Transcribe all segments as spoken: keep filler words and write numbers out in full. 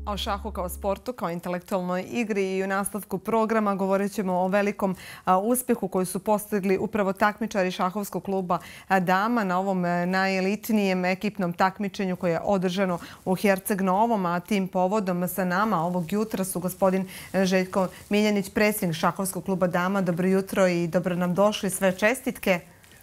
O šahu kao sportu, kao intelektualnoj igri i u nastavku programa govorit ćemo o velikom uspjehu koji su postigli upravo takmičari šahovskog kluba Dama na ovom najelitnijem ekipnom takmičenju koje je održano u Herceg Novom, a tim povodom sa nama ovog jutra su gospodin Željko Miljanić, predsjednik šahovskog kluba Dama. Dobro jutro i dobro nam došli, sve čestitke.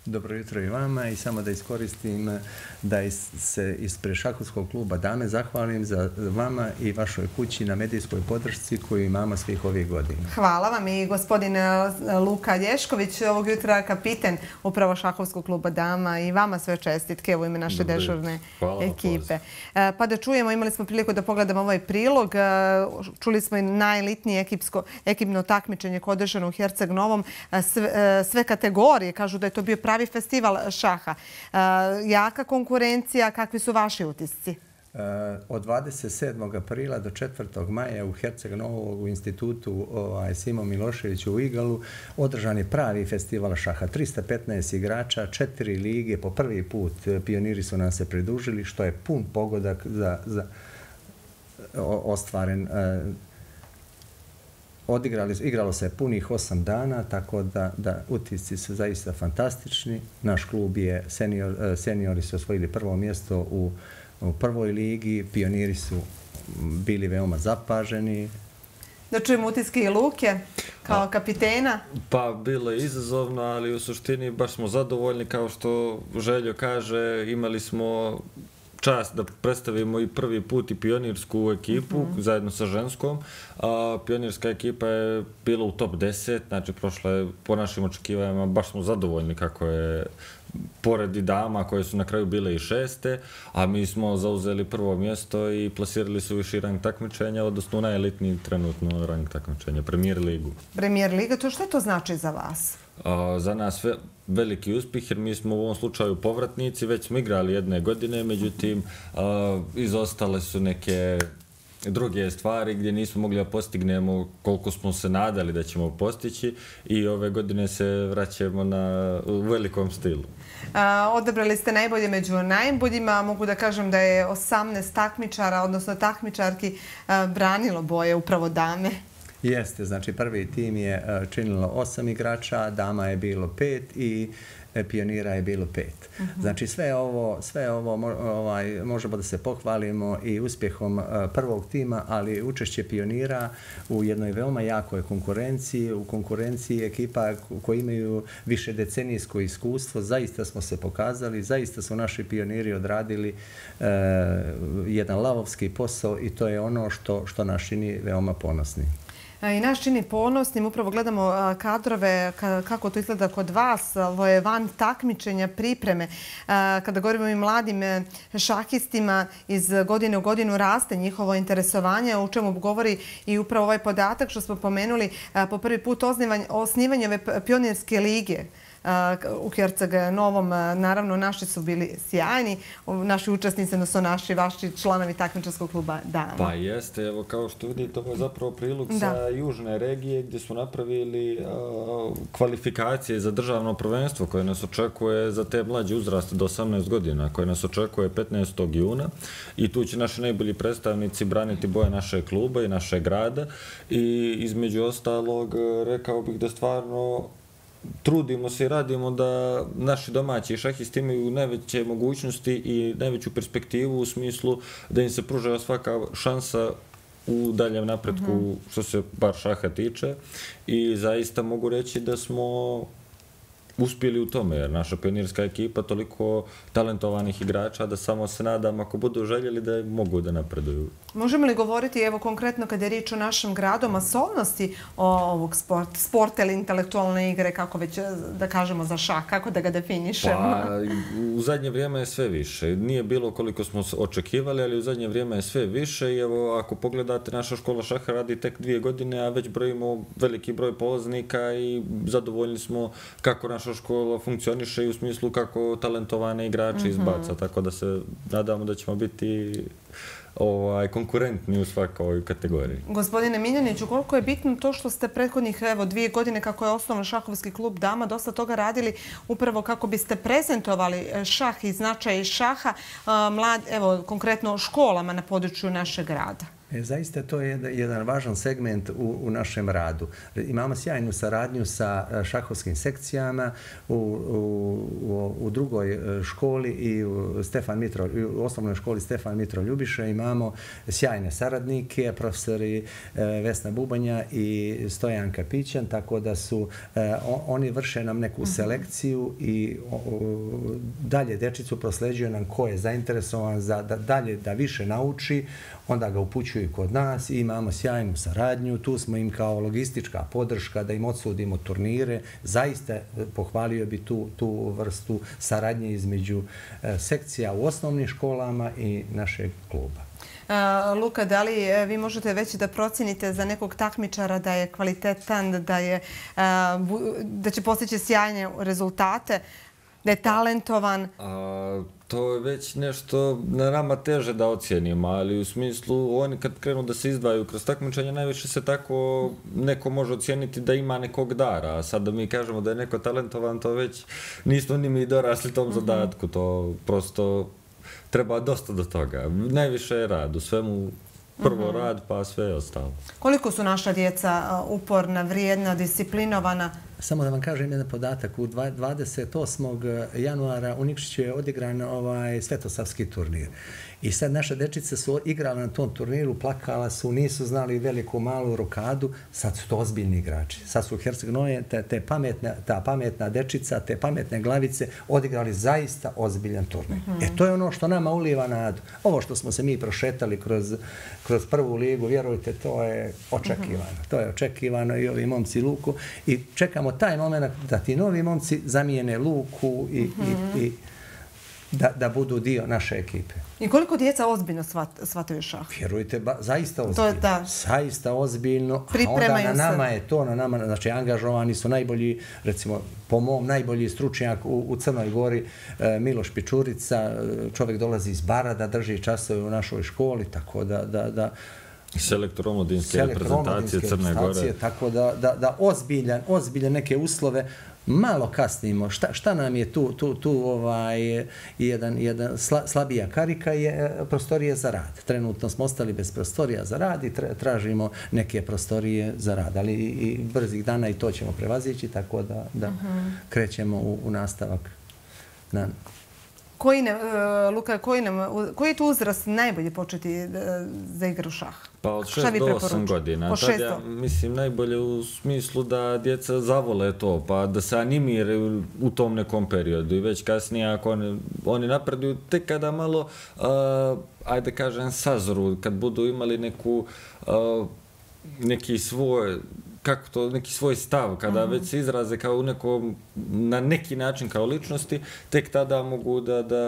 Dobro jutro i vama i samo da iskoristim da se ispred šahovskog kluba Dame zahvalim za vama i vašoj kući na medijskoj podršci koju imamo svih ovih godina. Hvala vam i gospodin Luka Lješković, ovog jutra kapiten upravo šahovskog kluba Dama, i vama sve čestitke u ime naše dežurne ekipe. Pa da čujemo, imali smo priliku da pogledamo ovaj prilog. Čuli smo i najelitnije ekipno takmičenje koje je održano u Herceg Novom. Sve kategorije kažu da je to bio pravi festival šaha. Jaka konkurencija, kakvi su vaši utisci? Od dvadeset sedmog aprila do četvrtog maja u Herceg Novom u institutu Simo Milošević u Igalu održan je pravi festival šaha. trista petnaest igrača, četiri lige, po prvi put pioniri su nam se pridružili, što je pun pogodak za ostvaren. Igralo se punih osam dana, tako da utisci su zaista fantastični. Naš klub je, seniori su osvojili prvo mjesto u prvoj ligi, pioniri su bili veoma zapaženi. Da čujemo utiske i Luke kao kapitena. Pa bilo je izazovno, ali u suštini baš smo zadovoljni. Kao što Željo kaže, imali smo čast da predstavimo i prvi put i pionirsku ekipu zajedno sa ženskom. Pionirska ekipa je bila u top deset, znači prošla je po našim očekivanjima, baš smo zadovoljni kako je pored i dama koje su na kraju bile i šeste, a mi smo zauzeli prvo mjesto i plasirali su viši rang takmičenja, odnosno najelitniji trenutno rang takmičenja, Premier ligu. Premier liga, to što to znači za vas? Za nas veliki uspjeh, jer mi smo u ovom slučaju povratnici, već smo igrali jedne godine, međutim izostale su neke druge stvari gdje nismo mogli da postignemo koliko smo se nadali da ćemo postići, i ove godine se vraćamo u velikom stilu. Odabrali ste najbolje među najboljima. Mogu da kažem da je osamnaest takmičara, odnosno takmičarki, branilo boje upravo Dame. Jeste, znači prvi tim je činilo osam igrača, dama je bilo pet i pionira je bilo pet. Znači sve ovo, sve ovo možemo da se pohvalimo i uspjehom prvog tima, ali učešće pionira u jednoj veoma jakoj konkurenciji, u konkurenciji ekipa koji imaju više decenijsko iskustvo, zaista smo se pokazali, zaista su naši pioniri odradili jedan lavovski posao i to je ono što nas čini veoma ponosni. I nas čini ponosnim, upravo gledamo kadrove, kako to izgleda kod vas, ovo je van takmičenja, pripreme. Kada govorimo i mladim šahistima, iz godine u godinu raste njihovo interesovanje, o čemu govori i upravo ovaj podatak što smo pomenuli, po prvi put osnivanje ove pionirske lige u Herceg Novom. Naravno, naši su bili sjajni, naši učesnici, odnosno naši, vaši članovi takmičarskog kluba Dama. Pa jeste, evo kao što vidite, ovo je zapravo prilog sa južne regije gdje smo napravili kvalifikacije za državno prvenstvo koje nas očekuje za te mlađe uzraste do osamnaest godina, koje nas očekuje petnaestog juna, i tu će naši najbolji predstavnici braniti boje našeg kluba i našeg grada, i između ostalog rekao bih da stvarno trudimo se i radimo da naši domaći šahisti imaju najveće mogućnosti i najveću perspektivu u smislu da im se pruža svaka šansa u daljem napretku što se bar šaha tiče, i zaista mogu reći da smo uspjeli u tome, jer naša pionirska ekipa toliko talentovanih igrača da samo se nadam, ako budu željeli, da mogu da napreduju. Možemo li govoriti, evo konkretno kada je riječ o našem gradu, masovnosti ovog sporta ili intelektualne igre, kako već da kažemo za šah, kako da ga definišemo? Pa, u zadnje vrijeme je sve više. Nije bilo koliko smo očekivali, ali u zadnje vrijeme je sve više, i evo, ako pogledate, naša škola šaha radi tek dvije godine, a već brojimo veliki broj polaznika i zadovoljni smo kako naša škola funkcioniše i u smislu kako talentovane igrače izbaca, tako da se nadamo da ćemo biti konkurentni u svakoj kategoriji. Gospodine Miljaniću, koliko je bitno to što ste prethodnih dvije godine kako je osnovan šahovski klub Dama dosta toga radili upravo kako biste prezentovali šah i značaj šaha konkretno školama na području našeg grada? Zaista to je jedan važan segment u, u našem radu. Imamo sjajnu saradnju sa šahovskim sekcijama u, u, u drugoj školi i u, Stefan Mitro, u osnovnoj školi Stefan Mitro Ljubiša imamo sjajne saradnike, profesori Vesna Bubanja i Stojan Kapićan, tako da su oni vrše nam neku selekciju i dalje dečicu prosleđuju nam ko je zainteresovan za da dalje da više nauči, onda ga upućuju kod nas i imamo sjajnu saradnju. Tu smo im kao logistička podrška da im odsudimo turnire. Zaista pohvalio bi tu, tu vrstu saradnje između sekcija u osnovnim školama i našeg kluba. Luka, da li vi možete već da procenite za nekog takmičara da je kvalitetan, da, je, da će postići sjajne rezultate, da je talentovan? A, to je već nešto na nama teže da ocijenimo, ali u smislu oni kad krenu da se izdvajaju kroz takmičenje, najviše se tako neko može ocijeniti da ima nekog dara, a sad da mi kažemo da je neko talentovan, to već nismo ni mi dorasli tom zadatku, to prosto treba dosta do toga. Najviše je rad, u svemu prvo rad pa sve ostalo. Koliko su naša djeca uporna, vrijedna, disciplinovana? Samo da vam kažem jedan podatak. U dvadeset osmog januara u Nikšiću je odigran ovaj svetosavski turnir. I sad naše dečice su igrale na tom turniru, plakala su, nisu znali veliku malu rokadu, sad su to ozbiljni igrači. Sad su u Herceg-Noje te, te pametna, ta pametna dečica, te pametne glavice odigrali zaista ozbiljan turnir. Mm-hmm. E to je ono što nama uliva nadu. Ovo što smo se mi prošetali kroz, kroz prvu ligu, vjerujte, to je očekivano. Mm-hmm. To je očekivano i ovi momci Luku. I čekamo taj moment da ti novi momci zamijene Luku i, mm-hmm. i, i Da, da budu dio naše ekipe. I koliko djeca ozbiljno shvat, shvataju šah? Vjerujte, ba, zaista ozbiljno. To je da. Zaista ozbiljno. Pripremaju a onda na nama se. je to, na nama, znači angažovani su najbolji, recimo po mom, najbolji stručnjak u, u Crnoj Gori, e, Miloš Pičurica, čovjek dolazi iz Bara da drži časove u našoj školi, tako da, da, da selektor omladinske reprezentacije Crne Gore. Tako da, da, da ozbiljan, ozbiljan neke uslove. Malo kasnimo. Šta, šta nam je tu, tu, tu ovaj, jedan, jedan sla, slabija karika je prostorije za rad. Trenutno smo ostali bez prostorija za rad i tražimo neke prostorije za rad. Ali i, i brzih dana i to ćemo prevazići, tako da, da uh-huh. krećemo u, u nastavak. Na... Koji, ne, Luka, koji, nam, koji je tu uzrast najbolje početi za igru šah? Pa od šest do osam godina. Po šest ja mislim najbolje u smislu da djeca zavole to, pa da se animiraju u tom nekom periodu i već kasnije ako oni, oni napreduju tek kada malo, uh, ajde kažem, sazru, kad budu imali neku, uh, neki svoj, kako to, neki svoj stav, kada uh-huh. već se izraze kao u nekom, na neki način kao ličnosti, tek tada mogu da, da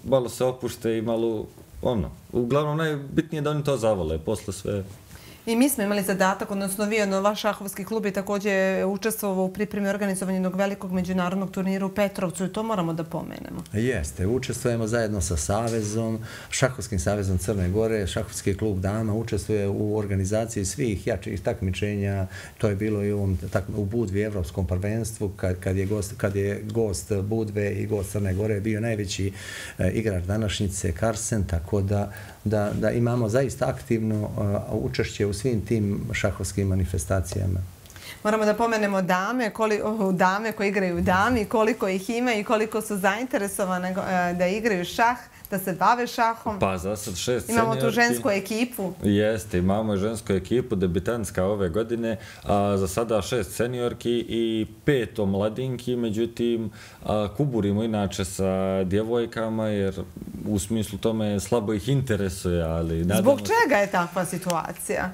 malo se opušte i malo, ono, uglavnom najbitnije je da oni to zavole, posle sve. I mi smo imali zadatak, odnosno vi, ono, vaš šahovski klub je također učestvovao u pripremi organizovanja jednog velikog međunarodnog turnira u Petrovcu i to moramo da pomenemo. Jeste, učestvujemo zajedno sa Savezom, Šahovskim savezom Crne Gore, Šahovski klub dama učestvuje u organizaciji svih jačih takmičenja. To je bilo i u, ovom, tak, u Budvi Evropskom prvenstvu, kad, kad, je gost, kad je gost Budve i gost Crne Gore bio najveći e, igrač današnjice Karsen, tako da, da, da imamo zaista aktivno a, učešće u svim tim šahovskim manifestacijama. Moramo da pomenemo dame, koli, oh, dame koje igraju dami, koliko ih ima i koliko su zainteresovane da igraju šah, da se bave šahom. Pa za sad šest imamo seniorki. Tu žensku ekipu. Jeste, imamo žensku ekipu, debitanska ove godine, a za sada šest seniorki i pet omladinki, međutim a, kuburimo inače sa djevojkama jer u smislu tome slabo ih interesuje, ali... Zbog čega je takva situacija?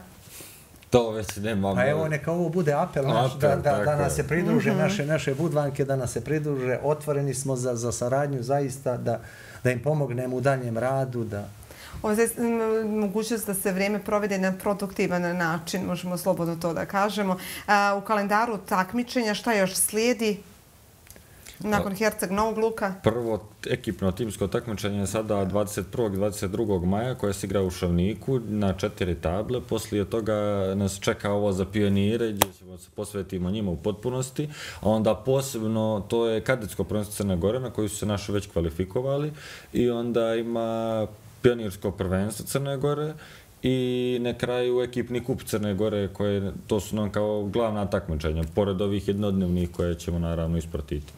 To već nemamo... Pa evo, neka ovo bude apel, naš, apel da, da, da nas se pridruže, mm-hmm. naše, naše budvanke, da nas se pridruže. Otvoreni smo za, za saradnju, zaista, da, da im pomognemo u daljem radu. Da... Ovo je mogućnost da se vrijeme provede na produktivan način, možemo slobodno to da kažemo. A, u kalendaru takmičenja šta još slijedi? Nakon Herceg Novog Luka? Prvo ekipno timsko takmičenje je sada dvadeset prvog i dvadeset drugog maja koje se igra u Šavniku na četiri table. Poslije toga nas čeka ovo za pionire gdje ćemo se posvetimo njima u potpunosti. A onda posebno to je kadetsko prvenstvo Crne Gore na koju su se naši već kvalifikovali. I onda ima pionirsko prvenstvo Crne Gore i na kraju ekipni kup Crne Gore, koje to su nam kao glavna takmičenja, pored ovih jednodnevnih koje ćemo naravno ispratiti.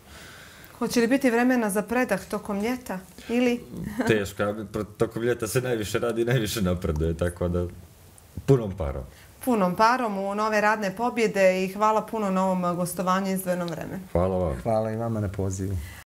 Hoće li biti vremena za predah tokom ljeta ili? Teško, tokom ljeta se najviše radi i najviše napreduje, tako da punom parom. Punom parom u nove radne pobjede i hvala puno na ovom gostovanju izdvojenom vremenu. Hvala vam. Hvala i vama na pozivu.